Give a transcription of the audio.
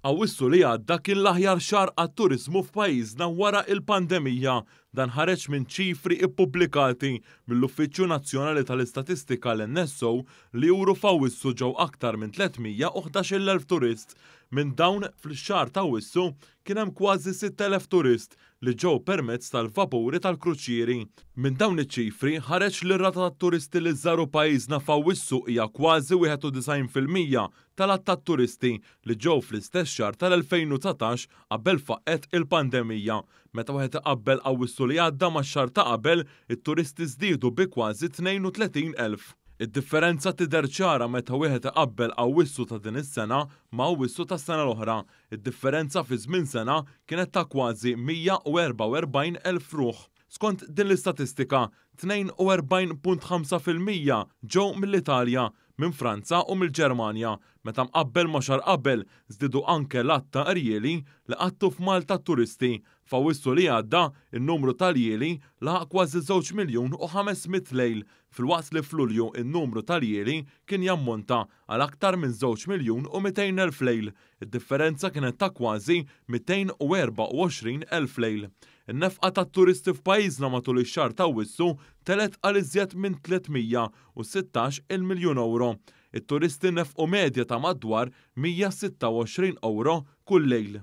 Awwissu li għadda kien l-aħjar xahar għat-turiżmu f'pajjiżna wara l-pandemija. Dan ħareġ minn ċifri ppubblikati mill-Uffiċċju Nazzjonali tal-Istatistika l-NSO li juru f'Awwissu ġew aktar minn 311,000 turist. Minn dawn, fl-xahar t'Awwissu kien hemm kważi 6,000 turist li ġew permezz tal-vapuri tal-kruċieri. Minn dawn iċ-ċifri ħareġ li r-rata tat-turisti li żaru pajjiżna f'Awwissu hija kważi 91% tal-għadd tat-turisti li ġew fl-istess xahar tal-2019 qabel faqqgħet il-pandemija. Meta wieħed iqabbel Awwissu li għadda max-xahar ta' qabel, it-turisti żdiedu bi kważi 32,000. Id-differenza tidher ċara meta wieħed iqabbel Awwissu ta' din is-sena ma' Awwissu tas-sena l-oħra. Id-differenza fi żmien sena kienet ta' kważi 144,000 ruħ. Skont din l-istatistika, 42.5% ġew mill-Italja, minn Franza u mill-Ġermanja. Meta mqabbel ma' xahar qabel, żdiedu anke l-għadd ta' rjieli li qattu f'Malta t-turisti. F'Awwissu li għadda, in-numru ta' ljieli laħaq kważi żewġ miljun u 500 lejl, filwaqt li f'Lulju n-numru ta' ljieli kien jammonta għal aktar minn żewġ miljun u 200,000 lejl. Id-differenza kienet ta' kważi 224,000 lejl. In-nefqa tat-turisti f'pajjiżna matul ix-xahar t'Awwissu telgħet għal iżjed minn 316-il miljun ewro. It-turisti nefqu medja ta' madwar 126 ewro kull lejl.